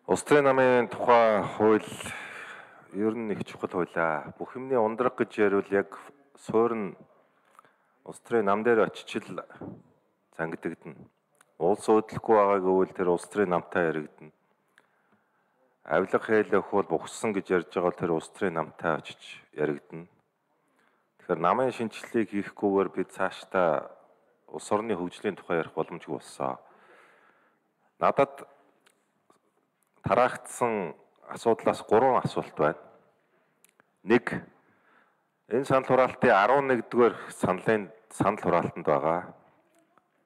Улс төрийн намын тухай хууль ер нь их чухал хуулиа. Бүх юмны ундраг гэж ярил яг суурь улс төрийн нам дээр очичил зангидагдана. Улс уудлахгүй байгааг өвөл тэр улс төрийн намтай яригдана. Авилга хээлэх бол бухсан гэж ярьж байгаа бол тэр улс төрийн намтай очиж яригдана. Тэгэхээр намын шинжилгээг хийхгүйгээр бид цаашдаа улс орны хөгжлийн тухай ярих боломжгүй болсон. Надад тараагдсан асуудлаас 3 асуулт байна. 1. Энэ санал хураалтын 11-р санал хураалтанд байгаа.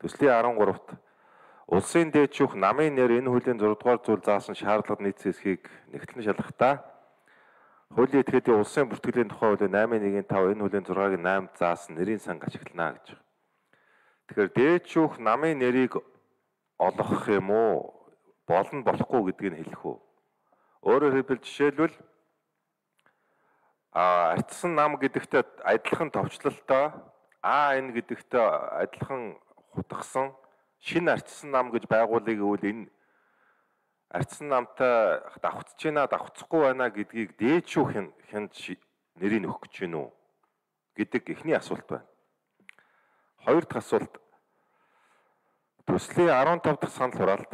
Төслийн 13-т улсын дээдшүүх намын нэр энэ хуулийн 6-р зүйл заасан шаардлага нийцсэн эсхийг нэгтлэн шалгахдаа хуулийн этгээдийн улсын бүртгэлийн тухай хуулийн 8.1.5 энэ хуулийн 6-гийн 8-д заасан нэрийн санг ашиглана гэж. Тэгэхээр дээдшүүх намын нэрийг олгох юм уу? Болно болохгүй гэдгийг хэлэх үү. Өөрөөр хэлбэл жишээлбэл ардсан нам гэдэгтээ адилхан товчлолтой энэ гэдэгтээ адилхан хутгсан шинэ ардсан нам гэж байгуулъя гэвэл энэ ардсан намтай давхцаж байна давхцахгүй байна гэдгийг дээдшүүх хянд нэрийг өгөх гэж байна уу гэдэг эхний асуулт байна. Хоёр дахь асуулт төслийн 15 дахь санал хураалт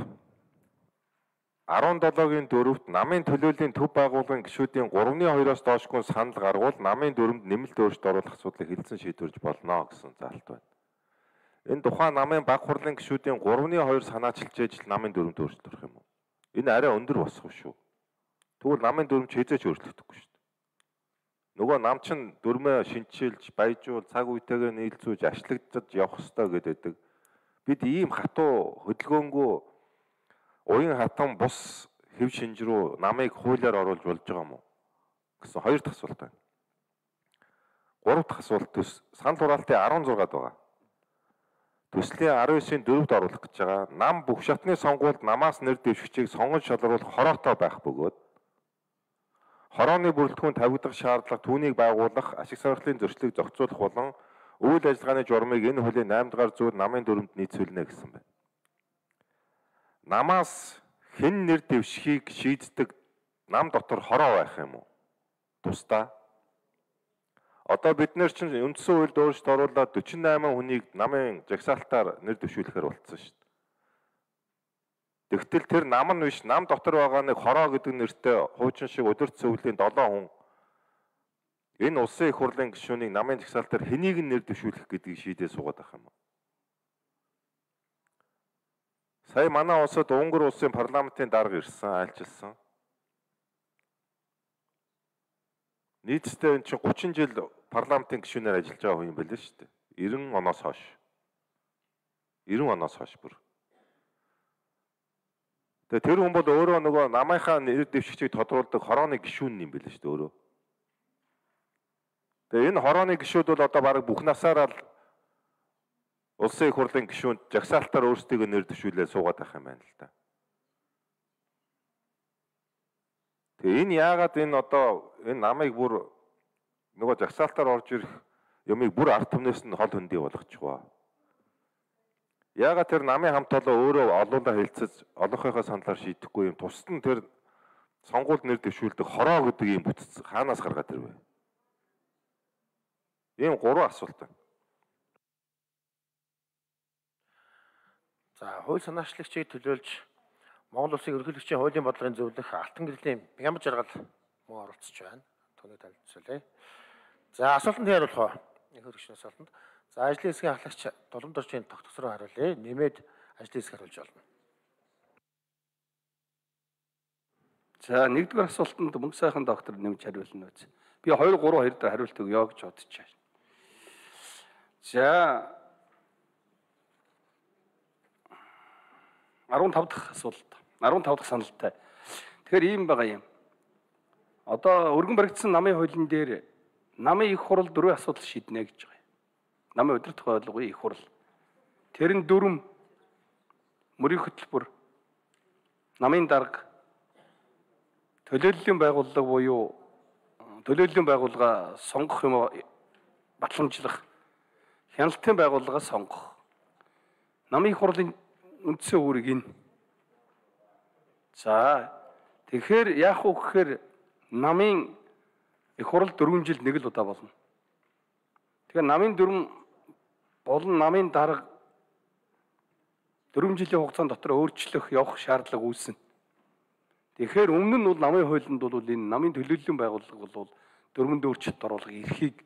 17-гийн 4-т намын төлөөллийн төв байгууллагын гишүүдийн 3-2-оос доошгүй санал гаргуул намын дүрмд нэмэлт өөрчлөлт оруулах асуудлыг хэлсэн шийдвэрлэж болно гэсэн заалт байна. Энэ тухайн намын баг хурлын гишүүдийн 3-2 санаачилж ижил намын дүрмд өөрчлөлт орох юм уу? Энэ арай өндөр босгох шүү. Тэгвэл намын дүрм хязгаарч өөрчлөгдөхгүй шүү дээ. Нөгөө нам чин дүрмээ шинчилж, баяжуул, цаг үетэйгээ нийлцүүлж, ашлагдаж явах ёстой гэдэг. Бид ийм хатуу хөдөлгөөнгөө уян хатан бус хэв шинж рүү намыг хуулиар оруулж болж байгаа юм уу гэсэн хоёр дахь асуулт байна. Гурав дахь асуулт санал хураалтын 16-д байгаа. Төслийн 19-ийн 4-д оруулах гэж байгаа. Нам бүх шатны сонгуульд намаас нэр дэвшигчийг сонгож шалгаруулах хороотой байх бөгөөд хорооны бүрэлдэхүүн тавигдах шаардлага түүнийг байгуулах, ашиг сонирхлын зөрчлийг зохицуулах болон үйл ажиллагааны журмыг энэ хуулийн 8-р зүйл намын дүрмд нийцүүлнэ гэсэн байна. Намаас хэн нэр дэвшихийг шийддэг нам дотор хороо байх юм уу? Тусдаа. Одоо бид нэр чинь үндсэн хуульд өөрчлөлт оруулаад 48 хүнийг намын жагсаалтаар нэр дэвшүүлэхээр болцсон шүү дээ. Тэгтэл тэр нам нь биш, нам дотор байгаа нэг хороо гэдэг нэртэй хуучин шиг өдөрт цэвлийн 7 хүн энэ улсын их хурлын гишүүнийг намын жагсаалтаар хэнийг нэр дэвшүүлэх гэдгийг шийдээ суугаад байх юм уу? Сая манай улсад Унгар улсын парламентын дарга ирсэн, айлчилсан. Нийтдээ энэ чинь 30 жил парламентын гишүүнээр ажиллаж байгаа хүн юм байл шүү дээ. 90 оноос хойш. 90 оноос хойш бүр. Тэгээ тэр хүн бол өөрөө нөгөө намынхаа нэр дэвшигчийг тодруулдаг хорооны гишүүн юм байл шүү дээ өөрөө. Тэгээ энэ хорооны гишүүд бол одоо бараг бүх насаараа л улсын их хурлын гишүүнд жагсаалтаар өөрсдөө нэр дэвшүүлээ суугаад байх юм байна л да. Тэгээ энэ яагаад энэ одоо энэ намыг бүр нөгөө жагсаалтаар орж ирэх юмыг бүр ард түмнээс нь хол хөндий болгочих вэ? Яагаад тэр намын хамт олоо өөрөө олуулаа хэлцэж олонхойхоо саналаар шийдэхгүй юм тусад нь тэр сонгуульд нэр дэвшүүлдэг хороо гэдэг юм бүтц хаанаас гаргаад ирвэ? Ийм 3 асуулт байна. За хууль санаачлагчийг төлөөлж Монгол улсын ерөнхийлөгчийн хуулийн бодлогын зөвлөх алтан гэрлийн Бямб жаргал мөн оролцож байна. Түүнийг танилцуулъя. За асуултанд хариулах уу? Их хөргөчний асуултанд. За ажлын хэсгийн ахлагч Дулам доржийн тогтцороо хариулъя. Нэмээд ажлын хэсэг хариулж болно. За нэгдүгээр асуултанд мөнгө сайхан доктор нэмж хариулна үз. Би 2 3 2 дээр хариулт өгье гэж бодож байна. За 15 дахь асуулт. 15 дахь саналтай. Тэгэхээр ийм байгаа юм. Одоо өргөн баригдсан намын хуулийн дээр намын их хурал 4 асуудал шийднэ гэж байгаа юм. Намын удирдах байгууллагын их хурал. Тэр нь дүрм, мөрийн хөтөлбөр, намын дарга, төлөөллийн байгууллага буюу төлөөллийн байгууллага сонгох юм батламжлах, хяналтын байгууллага сонгох. Намын их хурлын үндсэн үүрэг энэ. За Тэгэхээр яах вэ гэхээр намын их хурал 4 жилд нэг л удаа болно. Тэгэхээр намын дүрм болон намын дарга 4 жилийн хугацаанд дотор өөрчлөх явах шаардлага үүснэ. Тэгэхээр өмнө нь бол намын хуулинд бол энэ намын төлөөллийн байгууллага бол дөрвөн дөрвөлт оруулах эрхийг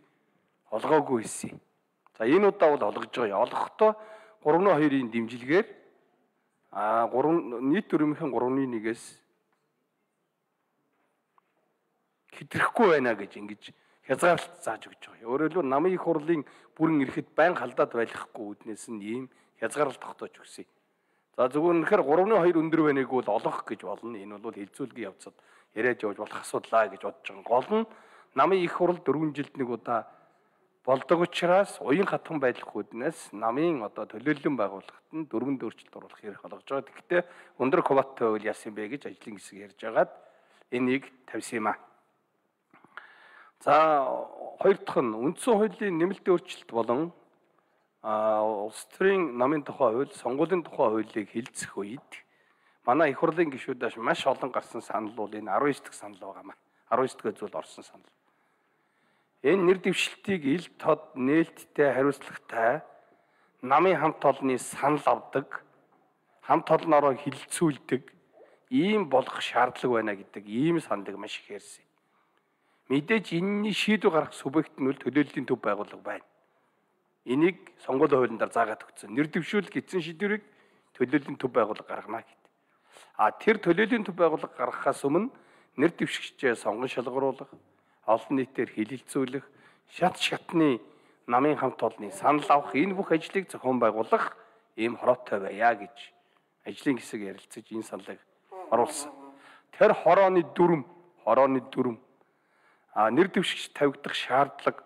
олгоогүй байсан. За энэ удаа бол олгож байгаа. Олгохдоо 3-2-ийн дэмжлэгээр нийт дүрмийнхэн 3-1-ээс хэтрэхгүй байна гэж ингэж хязгаарлалт зааж өгч байгаа. Өөрөөр хэлбэл намын их хурлын бүрэн эрхэд байн халдаад байхгүй үүднээс нь ийм хязгаарлалт тогтоож өгсөн. За зөвхөн үнэхээр 3-2 өндөр байныг бол олгох гэж болно. Энэ бол хилцүүлгийн явцад яриад явж болох асуудлаа гэж бодож байгаа. Гол нь намын их хурл 4 жилд нэг удаа болдог учраас уян хатхан байх үүднээс намын одоо төлөөллийн байгууллагт нь 4 өөрчлөлт оруулах хэрэг олгож байгаа. Тэгэхдээ өндөр квотатай үйл яасан бэ гэж ажлын хэсэг ярьж байгаад энийг тавьсан юм аа. За хоёр дахь нь үндсэн хуулийн нэмэлт өөрчлөлт болон улс төрийн намын тухай хууль, сонгуулийн тухай хуулийг хэлцэх үед манай их хурлын гишүүдээс маш олон гарсан санал бол энэ 19 дахь санал байгаамаа. 19 дахь зүйл орсон санал. Энэ нэр дэвшилтийг ил тод нээлттэй хариуцлагатай намын хамт олонны санал авдаг, хамт олноороо хилцүүлдэг ийм болох шаардлага байна гэдэг ийм саналыг маш их ярьсан. Мэдээж энэний шийдвэр гаргах субъект нь төлөөллийн төв байгууллага байна. Энийг сонгуулийн хуулиндаар заагаад өгсөн. Нэр дэвшүүлэх эзэн шийдвэрийг төлөөллийн төв байгууллага гаргана гэдэг. Тэр төлөөллийн төв байгууллага гаргахаас өмнө нэр дэвшигчдээ сонгон шалгаруулах, олон нийтээр хилэлцүүлэх, шат шатны намын хамт олонны санал авах энэ бүх ажлыг зохион байгуулах ийм хороотой байя гэж ажлын хэсэг ярилцаж энэ саналыг оруулсан. Тэр хорооны дүрм нэр дэвшигч тавигдах шаардлага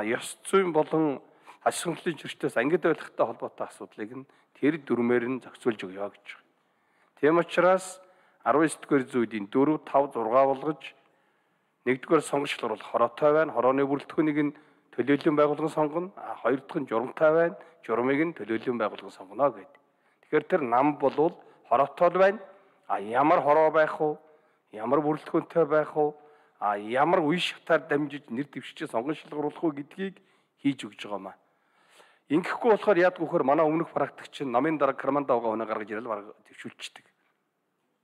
ёс зүйн болон аж ахуйн зөрчилтөөс ангид байлгахтай холбоотой асуудлыг нь тэр дүрмээр нь зохицуулж өгье гэж байна. Тийм учраас 19-р зүйдийн 4, 5, 6 болгож 1-р сонгож шалгаруулах хороотой байна. Хорооны бүрэлдэхүүнийг нь төлөөллийн байгууллага сонгоно. 2 дахь нь журамтай байна. Журамыг нь төлөөллийн байгууллага сонгоно гэдэг. Тэгэхээр тэр нам болвол хороотой байна. Ямар хороо байх вэ? Ямар бүрэлдэхүүнтэй байх вэ? Ямар үе шатаар дамжиж нэр дэвшигчээ сонгон шалгаруулах вэ гэдгийг хийж өгч байгаамаа. Ингэхгүй болохоор яадгүй хөр манай өмнөх практикч намын дарга карманда угаа өнө гаргаж ирэл баг төвшүүлчихдэг.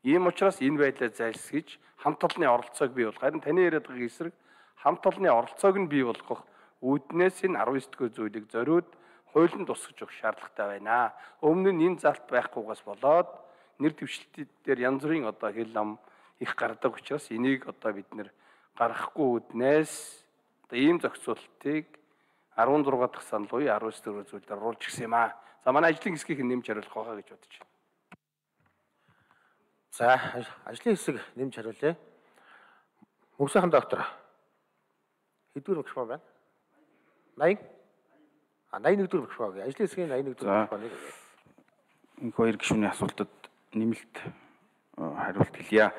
Ийм учраас энэ байдлаа зайлсхийж хамт олонны оролцоог бий болгох. Харин таны яриад байгаа эсрэг хамт олонны оролцоог нь бий болгох үүднээс энэ 19-р зүйлийг зориуд хуулинд тусгаж өгөх шаардлагатай байна. Өмнө нь энэ залт байхгүйгээс болоод нэр дэвшилтээр янз бүрийн одоо хэл ам их гардаг учраас энийг одоо бид нэр гаргахгүй үүднээс ийм зохицуултыг 16 дахь санал буюу 19-р зүйлээр оруулж гисэн юм аа. За манай ажлын хэсгийг нэмж хариулах байхаа гэж бодож байна. За ажлын хэсэг нэмж хариулъя. Мөнхсөн доктор хэдвэр микрофон байна? 80? 81-р микрофон гээ. Ажлын хэсгийн 81-р микрофоныг. Энэ хоёр гишүүний асуултад нэмэлт хариулт хэлье.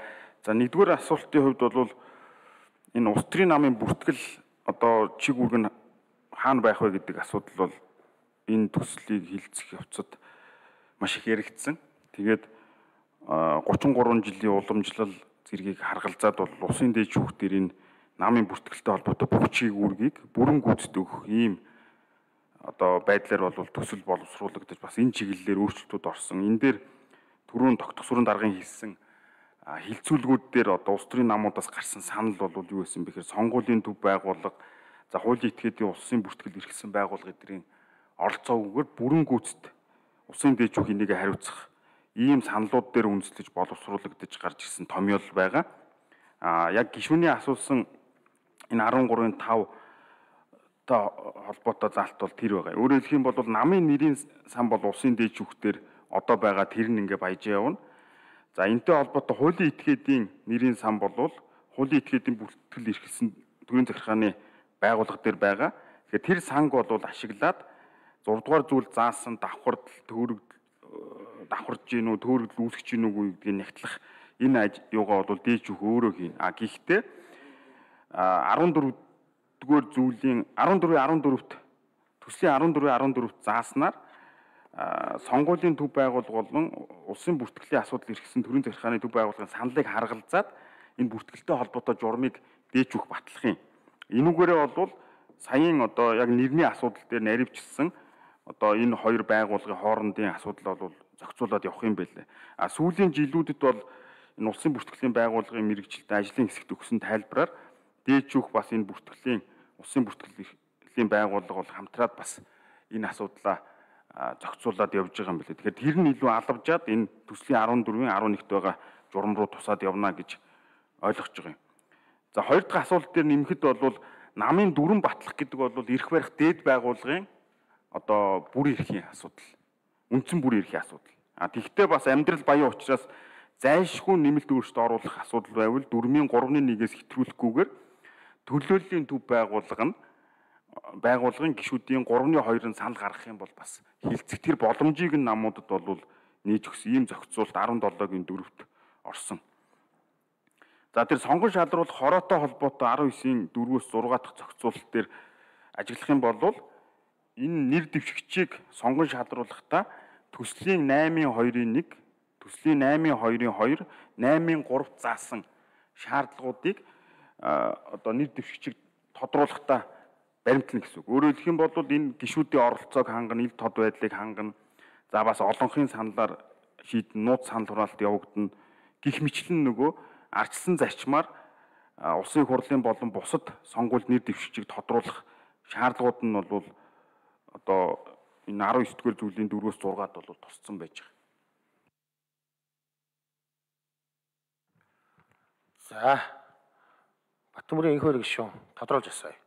За нэгдүгээр асуултын хувьд бол энэ улс төрийн намын бүртгэл одоо чиг үүрэг нь хаана байх вэ гэдэг асуудал бол энэ төслийг хилцэх явцад маш их яригдсан. Тэгээд 33 жилийн уламжлал зэргийг харгалзаад бол улсын дээд шүүх дээр энэ намын бүртгэлтэй холбоотой бүх чиг үүргийг бүрэн гүйцэд өгөх ийм одоо байдлаар бол төсөл боловсруулагдаж бас энэ чиглэлээр өөрчлөлтүүд орсон. Энэ дээр түрүүн тогтох сүрэн даргын хэлсэн хилцүүлгүүд дээр одоо улс төрийн намуудаас гарсан санал бол юу байсан бэхээр сонгуулийн төв байгууллага, за хуулийн этгээдийн улсын бүртгэл эрхэлсэн байгууллага эдрийн оролцоогүйгээр бүрэн гүйцэд улсын дээд шүүх энийг хариуцах ийм саналууд дээр үндэслэж боловсруулагдаж гарч ирсэн томьёол байгаа. Яг гишүүний асуусан энэ 13-ын 5 та холбоотой залт бол тэр байгаа. Өөрөөр хэлэх юм бол намын нэрийн сан бол улсын дээд шүүхтэр одоо байгаа тэр нь ингээ баяж явна. За энэтэй холбоотой хуулийн этгээдийн нэрийн сан бол хуулийн этгээдийн бүртгэл эрхэлсэн төрийн захиргааны байгууллага дээр байгаа. Тэгэхээр тэр санг бол ашиглаад 6 дугаар зүйл заасан давхард давхарж гин үү, төөрөгдөл үүсгэж гин үү гэдгийг нягтлах энэ юугаа бол дээд шүүх өөрөө хийн. Гэхдээ 14 дугаар зүйлийн 14-14-т төслийн 14-14-т зааснаар сонгуулийн төв байгууллага болон улсын бүртгэлийн асуудал эрхсэн төрийн захиргааны төв байгууллагын саналыг харгалзаад энэ бүртгэлтэй холбоотой журмыг дээч өгөх батлах юм. Энүүгээрээ бол саяын одоо яг нэрний асуудал дээр наривчилсан одоо энэ хоёр байгууллагын хоорондын асуудал бол зохицуулаад явах юм байлээ. Сүүлийн жилүүдэд бол энэ улсын бүртгэлийн байгууллагын мэрэгжилтэд ажлын хэсэгт өгсөн тайлбараар дээч өгөх бас энэ бүртгэлийн улсын бүртгэлийн байгууллага бол хамтраад бас энэ асуудлаа зохицуулаад явж байгаа юм билээ. Тэгэхээр тэр нь илүү алавжаад энэ төслийн 14-ийн 11-т байгаа журам руу тусаад явна гэж ойлгож байгаа юм. За хоёр дахь асуулт дээр нэмэхэд бол намын дүрэн батлах гэдэг бол эрх барих дээд байгууллагын одоо бүр эрхийн асуудал. Үндсэн бүр эрхийн асуудал. Тэгвэл бас амьдрал баян учраас зайлшгүй нэмэлт өөрчлөлт оруулах асуудал байвал 4/3-1-ээс хэтрүүлэхгүйгээр төлөөллийн төв байгууллагын гишүүдийн 3/2-ын санал гаргах юм бол бас хилцэх тэр боломжийг нь намуудад бол нээж өгсөн ийм зохицуулт 17-гийн 4-т орсон. За тэр сонгон шалруулах хороотой холбоотой 19-ийн 4-өөс 6 дахь зохицуулалт дээр ажиглах юм бол энэ нэр дэвшигчийг сонгон шалруулахдаа төслийн 8/2-1, төслийн 8/2-2, 8/3 заасан шаардлагуудыг одоо нэр дэвшигчийг тодруулахдаа баримтлана гэсэн үг. Өөрөөр хэлэх юм бол энэ гишүүдийн оролцоог хангана, ил тод байдлыг хангана. За бас олонхын саналаар шийдэн нууц санал хураалт явагдана. Гэх мэтлэн нөгөө ардчилсан зарчмаар улсын хурлын болон бусад сонгуульд нэр дэвшигчийг тодруулах шаардлагууд нь бол одоо энэ 19-р зүйлийн 4-өөс 6-ад бол тусцсан байж байгаа. За Батмүрийн энх хөрөг гишүүн тодруулж асууя.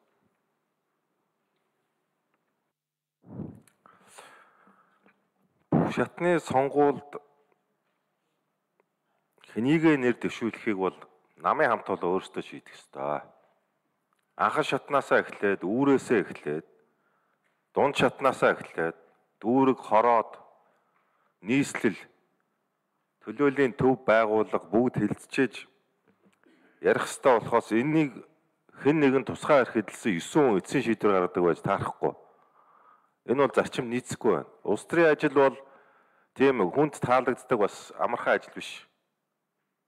Шатны сонгуульд хэнийг нэр дэвшүүлэхийг бол намын хамт олон өөрсдөө шийдэх ёстой. Анхан шатнаасаа эхлээд, үүрээсээ эхлээд, дунд шатнаасаа эхлээд, дүүрэг, хороод, нийслэл, төлөөллийн төв байгууллага бүгд хилцчээж ярих ёстой болохоос энэнийг хэн нэгэн тусгай арх эдэлсэн 9 хүн эцсийн шийдвэр гаргадаг байж таарахгүй. Энэ бол зарчим нийцэхгүй байна. Улс төрийн ажил бол тийм хүнд таалагддаг бас амархан ажил биш.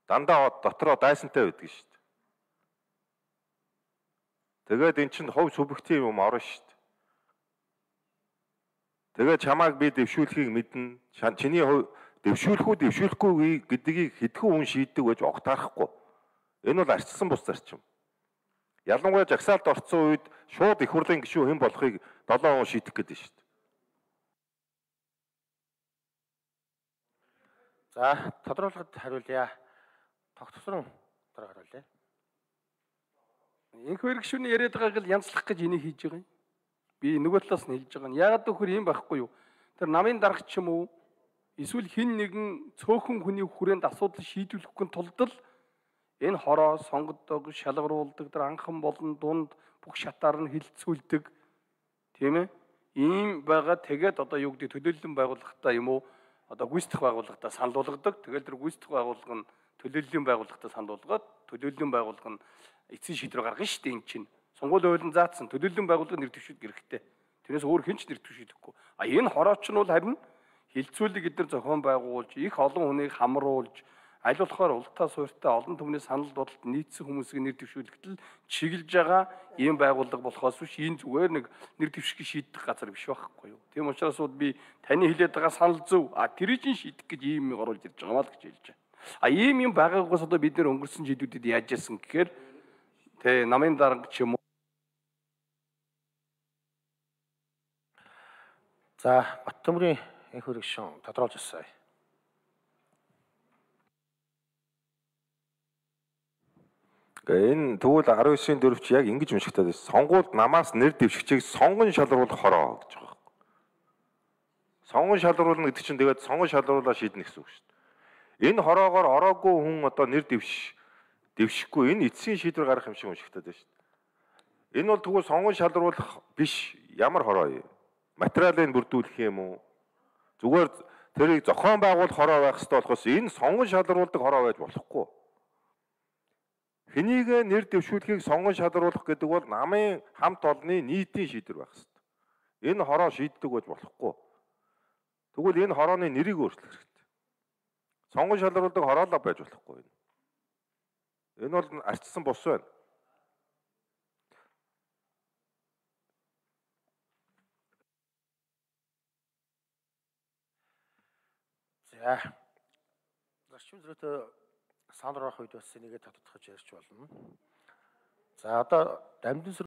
Дандаа дотроо дайсантай байдаг шүү дээ. Тэгээд эн чинь хувь субъектив юм орно шүү дээ. Тэгээд чамааг би дэвшүүлэхийг мэднэ. Чиний дэвшүүлэх үү, дэвшүүлэхгүй гэдгийг хэдхэн хүн шийддэг байж огтаарахгүй. Энэ бол арчилсан бус зарчим. Ялангуяа жагсаалд орцсон үед шууд их хурлын гишүүн хэн болохыг 7 хүн шийдэх гэдэг шүү дээ. За тодруулахад хариулъя. Тогтсон дараа хариулъя. Энх хөрөг гишүүний яриад байгааг л янзлах гэж энийг хийж байгаа юм. Би нөгөө талаас нь хэлж байгаа нь яагаад гэвэл юм байхгүй юу? Тэр намын дарга ч юм уу эсвэл хэн нэгэн цөөхөн хүний хүрээнд асуудал шийдвэрлэхгүй тулд л энэ хороо сонгодог, шалгаруулдаг, тэр анхан болон дунд бүх шатаар нь хилцүүлдэг. Тийм ээ? Ийм байгаа тэгээд одоо юу гэдэг төлөөллийн байгууллагатаа юм уу? Одоо гүйцэтгэх байгууллагатаа санал болгодог. Тэгэл тэр гүйцэтгэх байгууллага нь төлөөллийн байгууллагатаа санал болгоод төлөөллийн байгууллага нь эцсийн шийдвэр гаргана шүү дээ энэ чинь. Сонгуулийн хуулинд заасан төлөөллийн байгууллага нэр дэвшүүлэх хэрэгтэй. Тэрнээс өөр хэн ч нэр дэвшүүлэхгүй. Энэ хорооч нь бол харин хилцүүлэг эдгээр зохион байгуулж, их олон хүнийг хамруулж, аль болохоор ултаа суурьтай олон түмний санал бодолд нийцсэн хүмүүсийг нэр дэвшүүлэхдээ чиглэж байгаа ийм байгууллага болохоос биш энэ зүгээр нэг нэр дэвших шийдэх газар биш байхгүй юу. Тийм учраас би таны хэлээд байгаа санал зөв. Тэрийг шийдэх гэж ийм юм оруулж ирж байгаа маа л гэж хэлж байна. Ийм юм байгаагаас одоо бид нэр өнгөрсөн жилүүдэд яаж яасан гэхээр намын дарга ч юм уу. За Баттөмрийн энх хөрөг гишүүн тодруулж асууя. Энэ тэгвэл 19-ийн 4-ч яг ингэж уншигдаад байна. Сонгуульд намаас нэр дэвшигчийг сонгон шалгаруулах хороо гэж байгаа. Сонгон шалгаруулна гэдэг чинь тэгээд сонгон шалгаруулаа шийднэ гэсэн үг шүү дээ. Энэ хороогоор ороогүй хүн одоо нэр дэвшихгүй энэ эцсийн шийдвэр гаргах юм шиг уншигдаад байна шүү дээ. Энэ бол тэгвэл сонгон шалгаруулах биш ямар хороо юм? Материалыг бүрдүүлэх юм уу? Зүгээр тэрийг зохион байгуулах хороо байх хэрэгтэй болохоос энэ сонгон шалгаруулдаг хороо байж болохгүй. Хэнийг нэр дэвшүүлэхийг сонгон шалгаруулах гэдэг бол намын хамт олонны нийтийн шийдвэр байх хэрэгтэй. Энэ хороо шийддэг байж болохгүй. Тэгвэл энэ хорооны нэрийг өөрчлөх хэрэгтэй. Сонгон шалруулдаг хороолоо байж болохгүй. Энэ бол арчсан бус байна. За. Зарчим зөрүүтэй санал орох үед бас энийг тодтогч ярьж болно. За одоо дамжин